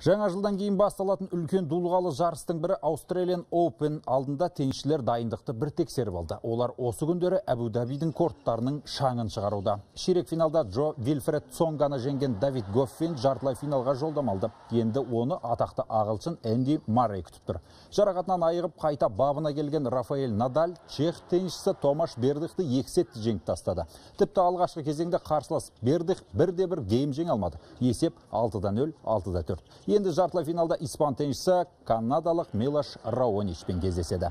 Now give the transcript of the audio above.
Жаңа жылдан кейін басталатын үлкен дулығалы жарыстың бірі Australian Open алдында теннисшілер дайындықты бір тексеріп алды. Олар осы күндері Әбу-Дабидің корттарының шаңын шығаруда. Ширек финалда Джо Вильфред Цонганы жеңген Давид Гоффин жартылай финалға жолдамалды. Енді оны атақты ағылшын Энди Маррей күтіп тұр. Жарақатынан айығып қайта бабына келген Рафаэль Надаль чех теннисшісі Томаш Бердихті 2 сетті жеңіп тастады. Тіпті алғашқы кезеңде қарсылас Бердих бірде-бір гейм жеңе алмады. Есеп 6-0, 6-4. Енді жартылай финалда испан теннисшісі канадалық Милош Раоничпен кездеседі.